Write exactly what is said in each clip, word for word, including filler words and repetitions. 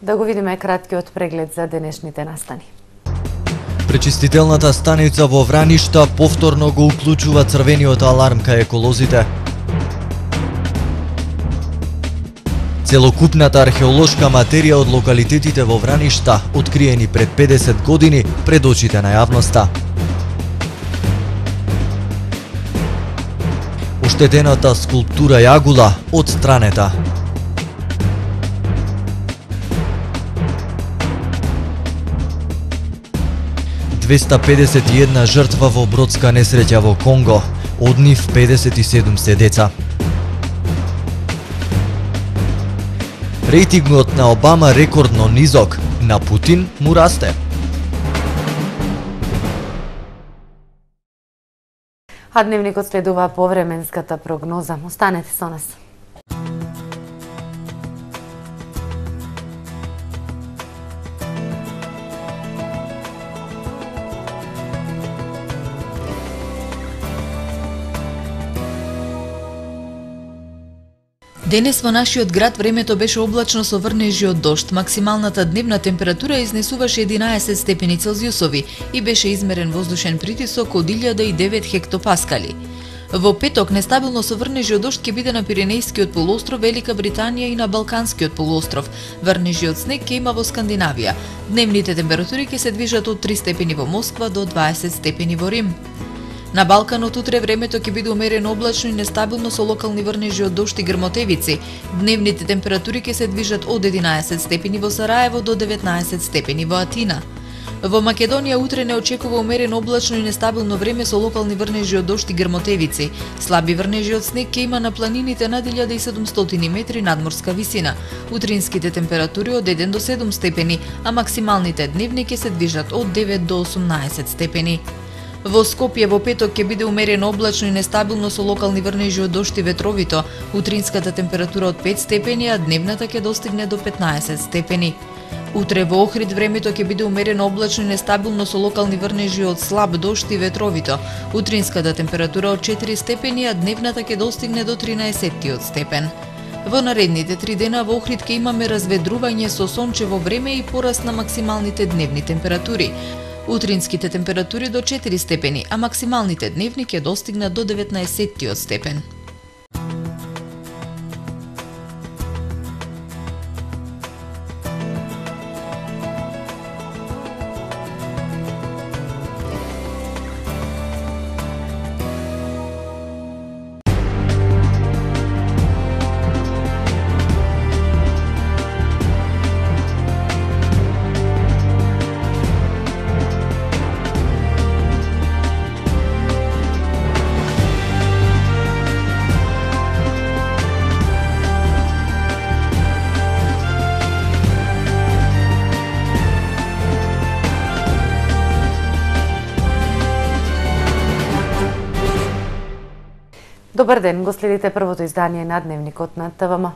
Да го видиме краткиот преглед за денешните настани. Пречистителната станица во Враништа повторно го уклучува црвениот аларм кај еколозите. Целокупната археолошка материја од локалитетите во Враништа, откриени пред педесет години, пред очите на јавноста. Оштетената скулптура Јагула одстранета. двеста педесет и една жртва во бродска несреќа во Конго, од нив педесет и седум се деца. Рейтингот на Обама рекордно низок, на Путин му расте. А дневникот следува повременската прогноза. Останете со нас. Денес во нашиот град времето беше облачно со врнежи од дожд. Максималната дневна температура изнесуваше единаесет степени Целзиусови и беше измерен воздушен притисок од илјада и девет хектопаскали. Во петок нестабилно со врнежи од дожд ќе биде на Пиренејскиот полуостров, Велика Британија и на Балканскиот полуостров. Врнежи од снег ќе има во Скандинавија. Дневните температури ќе се движат од три степени во Москва до дваесет степени во Рим. На Балканот утре времето ќе биде умерено облачно и нестабилно со локални врнежи од дожд и грмотевици. Дневните температури ќе се движат од единаесет степени во Сараево до деветнаесет степени во Атина. Во Македонија утре не очекува умерено облачно и нестабилно време со локални врнежи од дожд и грмотевици. Слаби врнежи од снег ќе има на планините над илјада и седумстотини метри надморска висина. Утринските температури од еден до седум степени, а максималните дневни ќе се движат од девет до осумнаесет степени. Во Скопје во петок ќе биде умерено облачно и нестабилно со локални врнежи од дожд и ветровито. Утринската температура од пет степени, а дневната ќе достигне до петнаесет степени. Утре во Охрид времето ќе биде умерено облачно и нестабилно со локални врнежи од слаб дожд и ветровито. Утринската температура од четири степени, а дневната ќе достигне до тринаесет степен. Во наредните три дена во Охрид ќе имаме разведрување со сончево време и пораст на максималните дневни температури. Утринските температури до четири степени, а максималните дневни ќе достигнат до деветнаесет степен. Добар ден, го следите првото издание на Дневникот на ТВМ.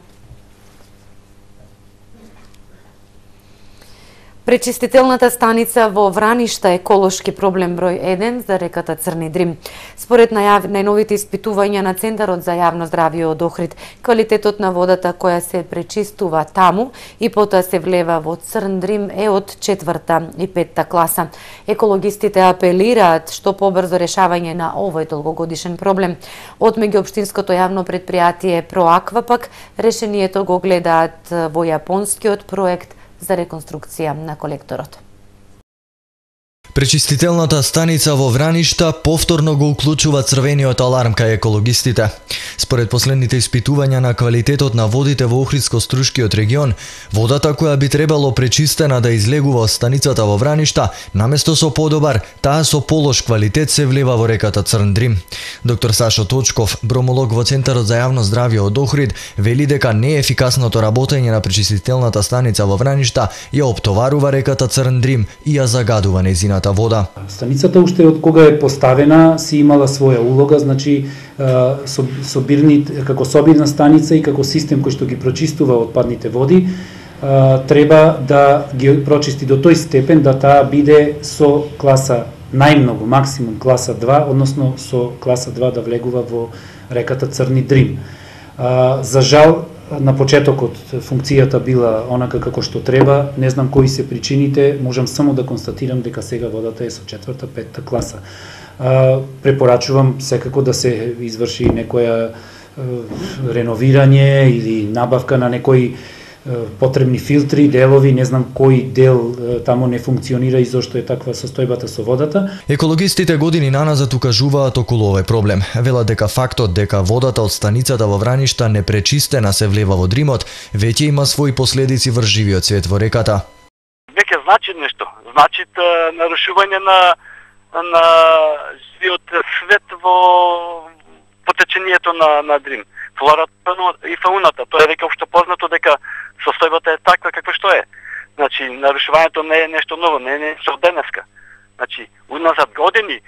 Пречистителната станица во Враништа е еколошки проблем број еден за реката Црни Дрим. Според најав... најновите испитувања на Центарот за јавно здравје од Охрид, квалитетот на водата која се пречистува таму и потоа се влева во Црн Дрим е од четврта и петта класа. Екологистите апелираат што побрзо решавање на овој долгогодишен проблем. Од меѓуопштинското јавно предпријатие Проаква пак решението го гледаат во јапонскиот проект за реконструкција на колекторот. Пречистителната станица во Враништа повторно го уклучува црвениот аларм кај екологистите. Според последните испитувања на квалитетот на водите во Охридско-Струшкиот регион, водата која би требало пречистена да излегува од станицата во Враништа, наместо со подобар, таа со полош квалитет се влева во реката Црн Дрим. Доктор Сашо Точков, бромолог во Центарот за јавно здравје од Охрид, вели дека неефикасното работење на пречистителната станица во Враништа ја оптоварува реката Црн Дрим и ја загадува нејзината вода. Станицата уште од кога е поставена си имала своја улога, значи со, собирни, како собирна станица и како систем кој што ги прочистува отпадните води, треба да ги прочисти до тој степен да таа биде со класа најмногу, максимум класа два, односно со класа два да влегува во реката Црни Дрим. За жал, на почетокот функцијата била онака како што треба, не знам кои се причините, можам само да констатирам дека сега водата е со четврта, петта класа. Препорачувам секако да се изврши некоја реновирање или набавка на некои потребни филтри, делови, не знам кој дел таму не функционира и зошто е таква состојбата со водата. Екологистите години наназад укажуваат околу овој проблем. Велат дека фактот дека водата од станицата во Враништа непречистена се влева во Дримот, веќе има своји последици врз живиот свет во реката. Веќе значи нешто, значи нарушување на на живиот свет во потечението на на Дрим. Флората и фауната, тоа е веќе општо познато дека состојбата е таква каква што е. Значи, нарушувањето не е нешто ново, не е нешто од денеска. Значи, уназад години,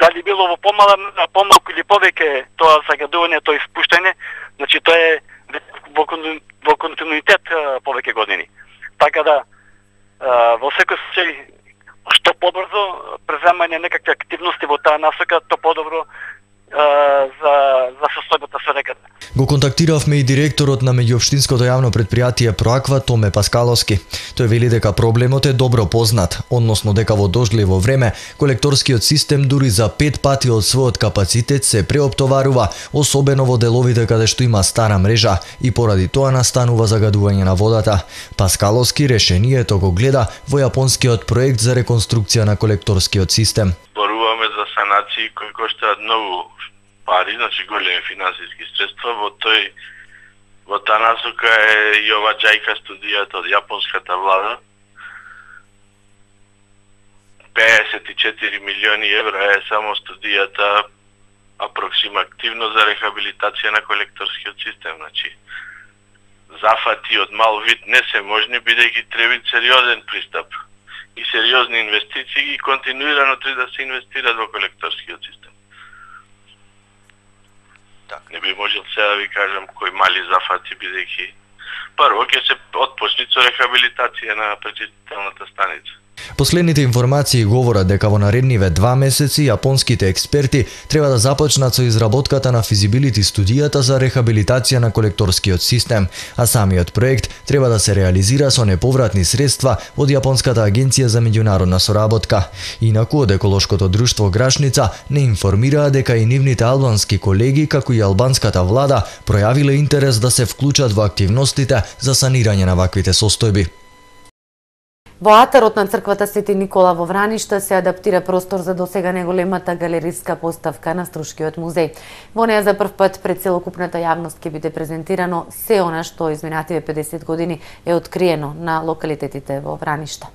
дали било во помала, помалку или повеќе тоа загадување, тоа испуштање, значи тоа е во, во континуитет повеќе години. Така да, во секој случај, што побрзо преземање некакви активности во таа насока, то подобро за за состојбата со реката. Го контактиравме и директорот на меѓуопштинското јавно предпријатие Проаква Томе Паскаловски. Тој вели дека проблемот е добро познат, односно дека во дождливо време колекторскиот систем дури за пет пати од својот капацитет се преоптоварува, особено во деловите каде што има стара мрежа и поради тоа настанува загадување на водата. Паскаловски решението го гледа во јапонскиот проект за реконструкција на колекторскиот систем. Зборуваме за санации кои коштаат многу пари, значи големи финансиски средства. Во тој во таа насока е и ова џајка студијата од јапонската влада. педесет и четири милиони евра е само студијата апроксимативно за рехабилитација на колекторскиот систем. Значи, зафати од мал вид не се можни, бидејќи треба сериозен пристап и сериозни инвестиции и континуирано треба да се инвестират во колекторскиот систем. Так, не би можел сега да ви кажам кои мали зафати, бидејќи прво ќе се отпочне со рехабилитација на пречистителната станица. Последните информации говорат дека во наредниве два месеци јапонските експерти треба да започнат со изработката на физибилити студијата за рехабилитација на колекторскиот систем, а самиот проект треба да се реализира со неповратни средства од Јапонската агенција за меѓународна соработка. Инаку од еколошкото друштво Грашница не информираа дека и нивните албански колеги, како и албанската влада, пројавиле интерес да се вклучат во активностите за санирање на ваквите состојби. Во атарот на црквата Свети Никола во Враништа се адаптира простор за досега неголемата галериска поставка на Струшкиот музеј. Во неја за прв пат пред целокупната јавност ќе биде презентирано се она што изминативе педесет години е откриено на локалитетите во Враништа.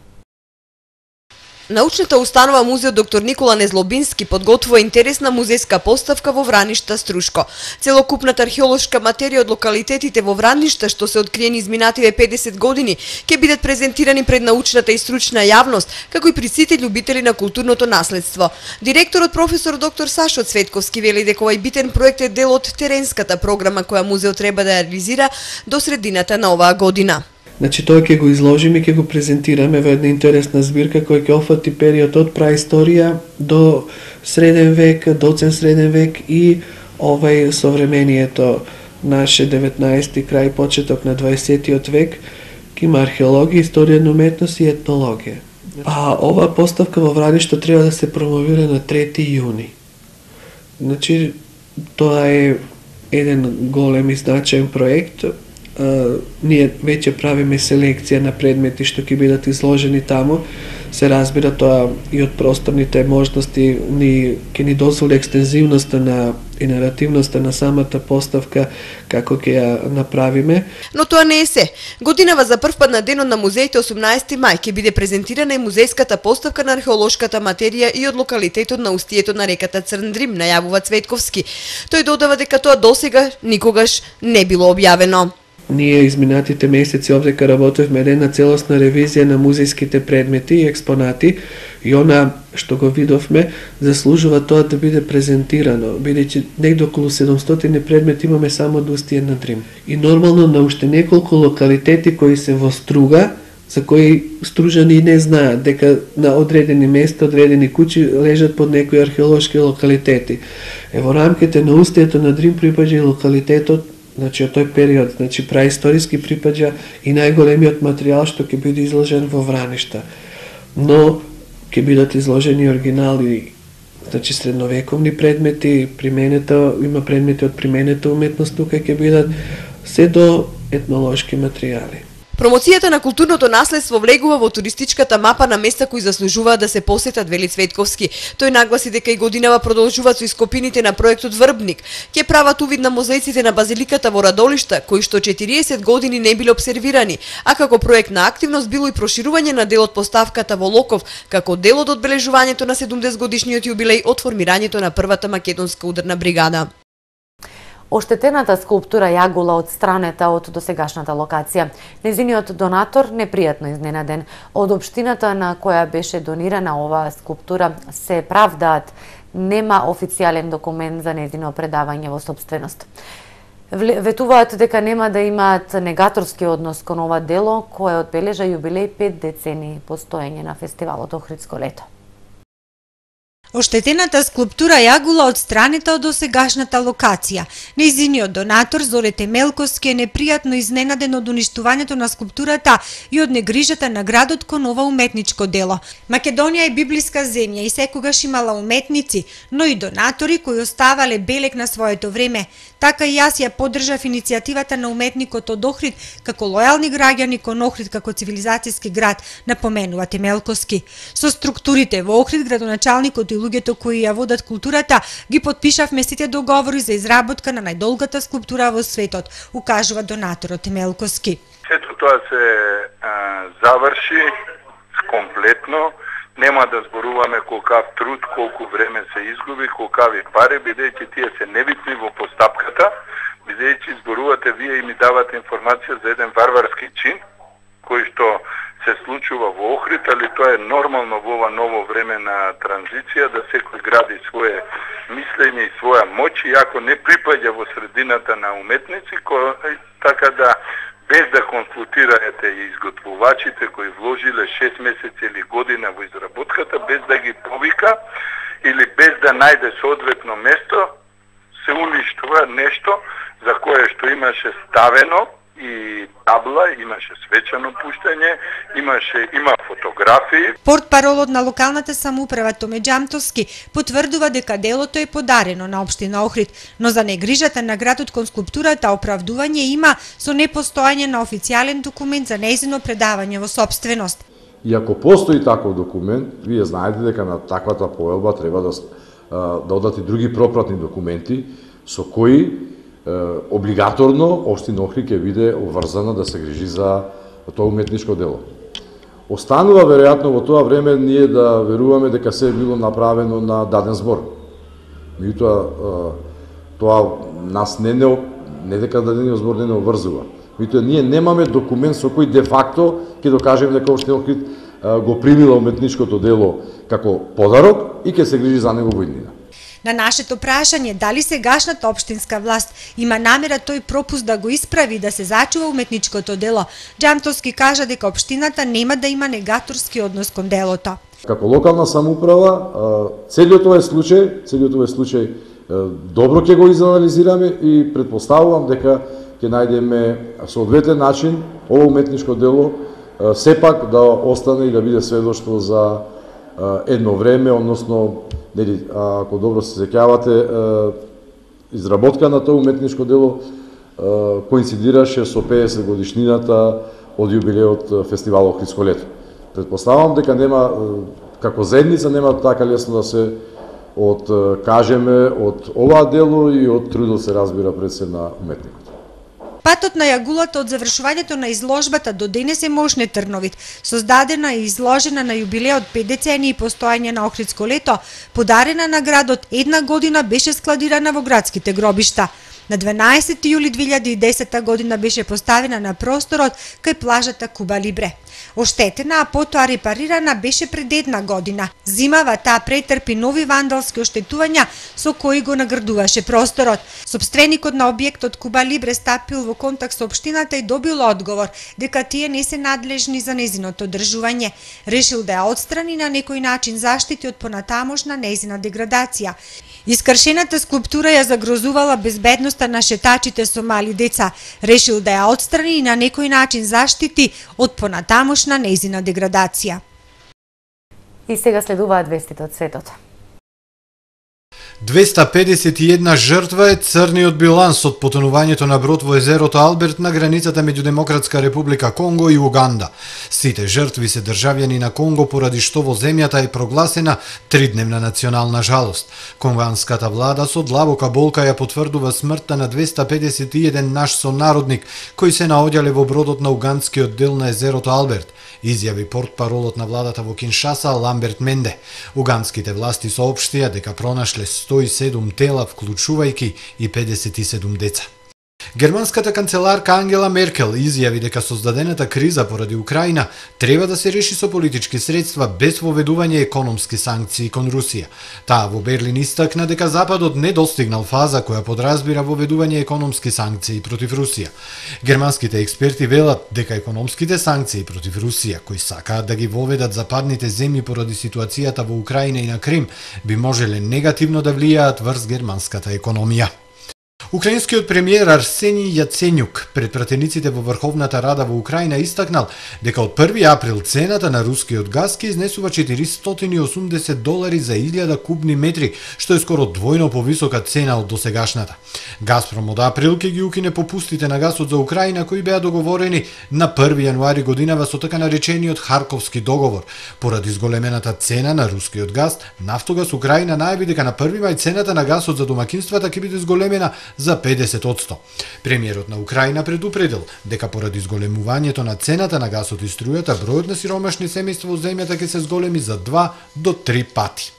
Научната установа Музеот доктор Никола Незлобински подготвува интересна музејска поставка во Враништа Струшко. Целокупната археолошка материја од локалитетите во Враништа што се откриени изминативе педесет години ќе бидат презентирани пред научната и стручна јавност, како и пред сите љубители на културното наследство. Директорот професор доктор Сашо Цветковски вели дека овој битен проект е дел од теренската програма која музеот треба да реализира до средината на оваа година. Значи, тоа ќе го изложиме и ќе го презентираме во една интересна збирка која ќе офати период од праисторија до среден век, доцен среден век и овај современието наше деветнаесети крај почеток на дваесеттиот век, ќе има археологија, историја на уметност и етнологија. А ова поставка во Враништа треба да се промовира на трети јуни. Значи, тоа е еден голем и значаен проект. Uh, ние веќе правиме селекција на предмети што ќе бидат изложени таму. Се разбира тоа и од просторните можности ни ќе ни дозволи екстензивноста на и наративноста на самата поставка како ќе ја направиме. Но тоа не е се. Годинава за прв пат на денот на музеите осумнаесети мај ќе биде презентирана и музејската поставка на археолошката материја и од локалитетот на устието на реката Црн Дрим, најавува Цветковски. Тој додава дека тоа досега никогаш не било објавено. Ние изминатите месеци овдека работевме една целосна ревизија на музејските предмети и експонати и она што го видовме заслужува тоа да биде презентирано, бидејќи негде околу седумстотини предмети имаме само од устие на Дрим. И нормално на уште неколку локалитети кои се во Струга, за кои стружани не знаат дека на одредени места, одредени куќи лежат под некои археолошки локалитети. Е во рамките на устието на Дрим припаѓа и локалитетот Значи, од тој период, значи, праисториски припаѓа и најголемиот материјал што ќе биде изложен во Враништа. Но ќе бидат изложени оригинали, значи средновековни предмети, применета, има предмети од применета уметност тука ќе бидат, се до етнолошки материјали. Промоцијата на културното наследство влегува во туристичката мапа на места кои заслужуваат да се посетат, вели Цветковски. Тој нагласи дека и годинава продолжуваат со ископините на проектот Врбник. Ќе прават увид на музеиците на базиликата во Радолишта, кои што четириесет години не биле обсервирани, а како проект на активност било и проширување на делот поставката во Локов, како дел од одбележувањето на седумдесет годишниот јубилеј од формирањето на првата македонска ударна бригада. Оштетената скулптура Јагула одстранета од досегашната локација. Незиниот донатор непријатно изненаден. Од општината на која беше донирана оваа скулптура се правдаат нема официјален документ за незино предавање во сопственост. Ветуваат дека нема да имаат негаторски однос кон ова дело кое одбележа јубилеј пет децении постоење на фестивалот Охридско лето. Оштетената скулптура Јагула одстранета од досегашната локација. Нејзиниот донатор Зоре Темелковски е непријатно изненаден од уништувањето на скулптурата и од негрижата на градот кон ова уметничко дело. Македонија е библиска земја и секогаш имала уметници, но и донатори кои оставале белег на своето време. Така и јас ја поддржав иницијативата на уметникот од Охрид како лојални граѓани кон Охрид како цивилизацијски град, напоменува Темелковски. Со структурите во Охрид, градоначалникот и луѓето кои ја водат културата ги потпишавме сите договори за изработка на најдолгата скулптура во светот, укажува донаторот Темелковски. Сето тоа се а, заврши комплетно. Нема да зборуваме колкав труд, колку време се изгуби, колкави пари, бидејќи тие се небитни во постапката, бидејќи зборувате вие и ми давате информација за еден варварски чин, кој што се случува во Охрид, али тоа е нормално во ова ново време на транзиција, да секој гради свое мислење и своја моќ, иако не припаѓа во средината на уметници, кој, така да без да консултираете и изготвувачите кои вложиле шест месеци или година во изработката, без да ги повика или без да најде соодветно место, се уништува нешто за кое што имаше ставено и табла, имаше свечано пуштање, имаше има фотографии. Портпаролот на локалната самоуправа Томе Џамтовски потврдува дека делото е подарено на општина Охрид, но за негрижата на градот кон скулптурата оправдување има со непостојање на официјален документ за нејзино предавање во сопственост. И ако постои таков документ, вие знаете дека на таквата поелба треба да да одат и други пропратни документи со кои облигаторно општина Охрид ќе биде обврзана да се грижи за тоа уметничко дело. Останува веројатно во тоа време ние да веруваме дека се било направено на даден збор. Меѓутоа тоа нас не не не дека дадениот збор не не обврзува. Меѓутоа ние немаме документ со кој де факто ќе докажеме дека општина Охрид го примила уметничкото дело како подарок и ќе се грижи за него во иднина. На нашето прашање дали сегашната општинска власт има намера тој пропуст да го исправи и да се зачува уметничкото дело, Џамтовски кажа дека општината нема да има негаторски однос кон делото. Како локална самоуправа, целиот овој случај, целиот овој случај добро ќе го изанализираме и претпоставувам дека ќе најдеме соодветен начин ово уметничко дело сепак да остане и да биде сведоштво за едно време, односно, нели, ако добро се сеќавате, изработка на тоа уметничко дело коинцидираше со педесет годишнината од јубилеот фестивал Охридско лето. Претпоставам дека нема, како заедница, нема така лесно да се откажеме од оваа дело и од трудот се разбира пред се на уметникот. Патот на Јагулата од завршувањето на изложбата до денес е Мошне Трновит, создадена и изложена на јубилеот пет децении постоење на Охридско лето, подарена на градот една година беше складирана во градските гробишта. На дванаесети јули две илјади и десета година беше поставена на просторот кај плажата Куба Либре. Оштетена, а потоа репарирана беше пред една година. Зимава таа претрпи нови вандалски оштетувања со кои го наградуваше просторот. Сопственикот на објектот Куба Либре стапил во контакт со општината и добил одговор дека тие не се надлежни за нејзиното одржување. Решил да ја отстрани на некој начин заштити од понатамошна нејзина деградација. Искршената скулптура ја загрозувала безбедност безбедноста на шетачите со мали деца, решил да ја отстрани и на некој начин заштити од понатамошна нејзина деградација. И сега следуваат вестите од светот. двеста педесет и една жртва е црниот биланс од потонувањето на брод во езерото Алберт на границата меѓу Демократска република Конго и Уганда. Сите жртви се државјани на Конго, поради што во земјата е прогласена тридневна национална жалост. Конганската влада со длабока болка ја потврдува смртта на двеста педесет и еден наш сонародник кои се наоѓале во бродот на угандскиот дел на езерото Алберт, изјави портпаролот на владата во Киншаса Ламберт Менде. Угандските власти соопштија дека пронашле сто и седум тела, вклучувајќи и педесет и седум деца. Германската канцеларка Ангела Меркел изјави дека создадената криза поради Украина треба да се реши со политички средства без воведување економски санкции кон Русија. Таа во Берлин истакна дека Западот не достигнал фаза која подразбира воведување економски санкции против Русија. Германските експерти велат дека економските санкции против Русија, кои сакаат да ги воведат западните земји поради ситуацијата во Украина и на Крим, би можеле негативно да влијаат врз германската економија. Украинскиот премиер Арсений Јаценјук пред пратениците во Врховната Рада во Украина истакнал дека од први април цената на рускиот газ ќе изнесува четиристотини и осумдесет долари за илјада кубни метри, што е скоро двојно повисока цена од досегашната. Газпром од април ќе ги укине попустите на гасот за Украина кои беа договорени на први јануари годинава со така наречениот Харковски договор. Поради зголемената цена на рускиот газ, Нафтогаз Украина најави дека на први мај цената на гасот за домакинствата ќе биде зголемена за педесет одсто. Премиерот на Украина предупредил дека поради зголемувањето на цената на гасот и струјата, бројот на сиромашни семејства во земјата ќе се зголеми за два до три пати.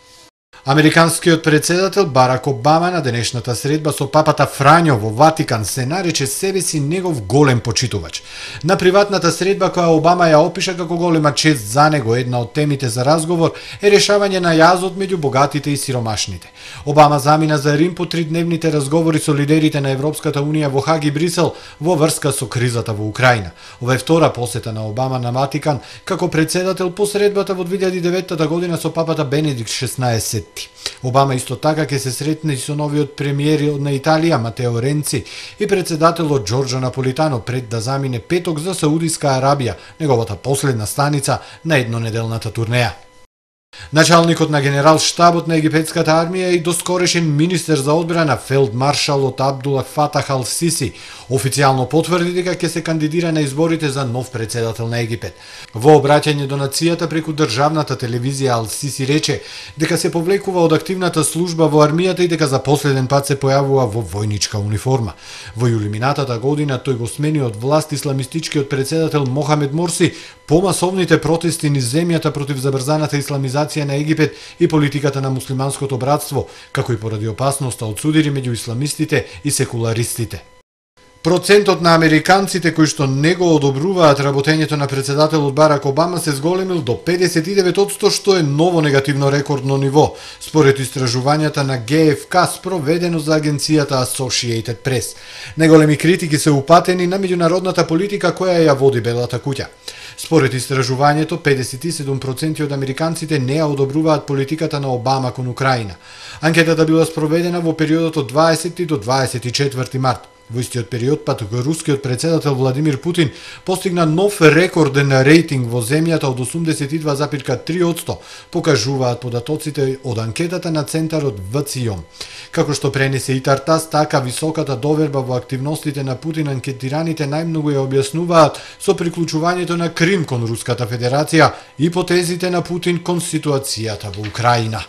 Американскиот председател Барак Обама на денешната средба со папата Фрањо во Ватикан се нарече себе си негов голем почитувач. На приватната средба која Обама ја опиша како голема чест за него, една од темите за разговор е решавање на јазот меѓу богатите и сиромашните. Обама замина за Рим по тридневните разговори со лидерите на Европската унија во Хаг и Брисел во врска со кризата во Украина. Ова е втора посета на Обама на Ватикан како председател по средбата во две илјади и девета година со папата Бенедикт шеснаесети. Обама исто така ќе се сретне и со новиот премиер на Италија Матео Ренци и председателот Џорџо Наполитано пред да замине петок за Саудиска Арабија, неговата последна станица на еднонеделната турнеја. Началникот на генерал штабот на египетската армија и доскорешен министер за одбрана фелдмаршалот Абдула Фатах Ал Сиси официјално потврди дека ќе се кандидира на изборите за нов председател на Египет. Во обраќање до нацијата преку државната телевизија Ал Сиси рече дека се повлекува од активната служба во армијата и дека за последен пат се појавува во војничка униформа. Во јули минатата година тој го смени од власт исламистичкиот председател Мохамед Морси по масовните протести низ земјата против забрзаната исламизација на Египет и политиката на муслиманското братство, како и поради опасноста од судири меѓу исламистите и секуларистите. Процентот на американците кои што не го одобруваат работењето на председателот Барак Обама се зголемил до педесет и девет одсто, што е ново негативно рекордно ниво, според истражувањата на Г Ф К спроведено за агенцијата Associated Press. Неголеми критики се упатени на меѓународната политика која ја води Белата куќа. Според истражувањето, педесет и седум проценти од американците не ја одобруваат политиката на Обама кон Украина. Анкетата била спроведена во периодот од дваесети до дваесет и четврти март. Во истиот период пат рускиот председател Владимир Путин постигна нов рекорден рейтинг во земјата од осумдесет и два запирка три одсто, покажуваат податоците од анкетата на центарот В Ц И О М. Како што пренесе и Тартас, така високата доверба во активностите на Путин анкетираните најмногу ја објаснуваат со приклучувањето на Крим кон Руската Федерација и потезите на Путин кон ситуацијата во Украина.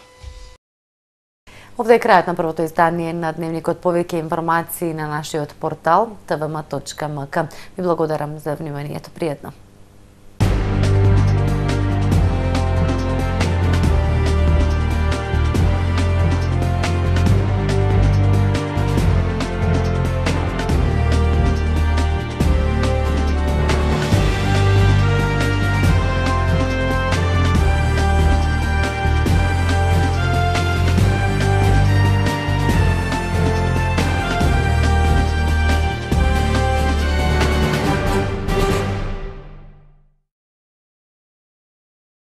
Овде е крајот на првото издание на Дневникот. Повеќе информации на нашиот портал т в м точка м к. Ви благодарам за вниманието. Пријатно.